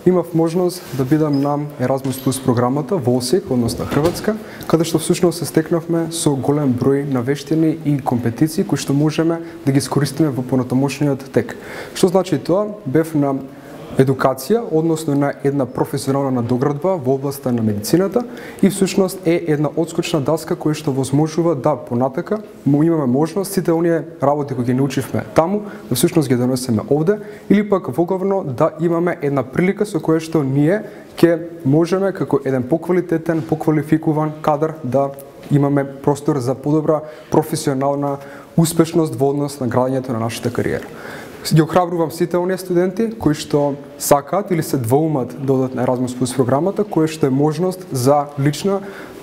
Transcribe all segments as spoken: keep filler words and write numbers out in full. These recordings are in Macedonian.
имав можност да бидам на Еразмус плюс програмата во Осијек, односно Хрватска, каде што всушност се стекнавме со голем број на вештини и компетиции кои што можеме да ги искористиме во понатамошниот тек. Што значи тоа? Бев на едукација, односно на една професионална надоградба во областа на медицината и всушност е една одскочна даска која што возможува да понатака му имаме можност сите оние работи кои ги научивме таму да всушност ги донесеме овде или пак воглавно да имаме една прилика со која што ние ќе можеме како еден поквалитетен, поквалификуван кадар да имаме простор за подобра професионална успешност во однос на градењето на нашата кариера. Ги охрабрувам сите оние студенти кои што сакаат или се двоумат да одат на Еразмус плюс програмата, која што е можност за лична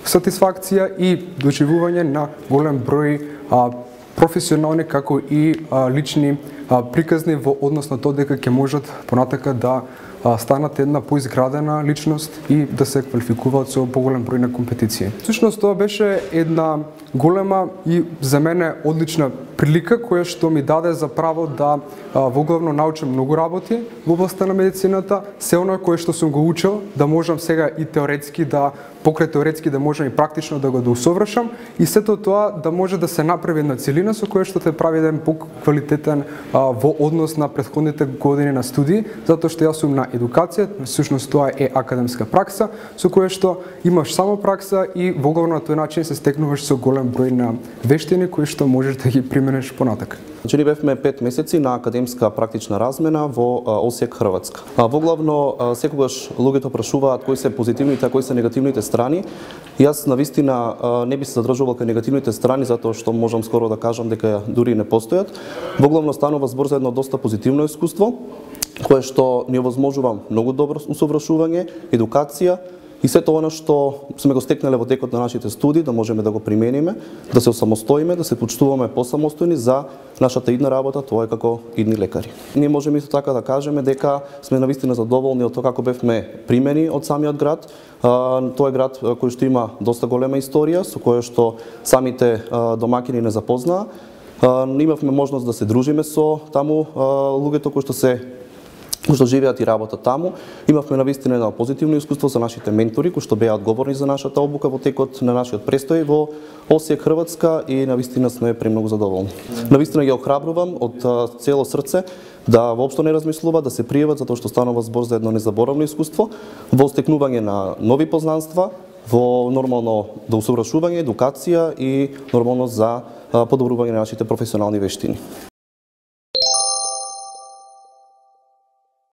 сатисфакција и доживување на голем број а, професионални како и а, лични а, приказни во однос на тоа дека ќе можат понатака да а, станат една поизградена личност и да се квалификуваат со поголем број на компетиции. Всушност тоа беше една голема и за мене одлична прилика која што ми даде за право да воглавно научам многу работи во областа на медицината, се оно кое што сум го учел, да можам сега и теоретски да покрај теоретски да можам и практично да го доусовршам и сето тоа да може да се направи една целина со која што те прави еден поквалитетен во однос на претходните години на студии, затоа што јас сум на едукација, всушност тоа е академска пракса, со која што имаш само пракса и воглавно на тој начин се стекнуваш со голем број на вештини кои што можеш да ги примениш понатака. Значи, ни бевме пет месеци на академска практична размена во Осијек, Хрватска. Воглавно, секогаш луѓето прашуваат кои се позитивните, а кои се негативните страни. Јас навистина не би се задржувал кај негативните страни, затоа што можам скоро да кажам дека дури не постојат. Воглавно станува збор за едно доста позитивно искуство, кое што ни овозможува многу добро усовршување, едукација, и сето она што сме го стекнале во текот на нашите студии, да можеме да го примениме, да се осамостоиме, да се почувствуваме посамостојни за нашата идна работа, тоа е како идни лекари. Ние можеме исто така да кажеме дека сме навистина задоволни од тоа како бевме примени од самиот град. Тоа е град кој што има доста голема историја, со која што самите домакини не запознаа. Имавме можност да се дружиме со таму луѓето кои што се кои што живеат и работат таму. Имавме навистина едно позитивно искуство за нашите ментори кои што беа одговорни за нашата обука во текот на нашиот престој во Осијек, Хрватска и навистина сме премногу задоволни. Навистина ги охрабрувам од цело срце да воопшто не размислуваат, да се пријават затоа што станува збор за едно незаборавно искуство во стекнување на нови познанства, во нормално да усовршување, едукација и нормално за подобрување на нашите професионални вештини.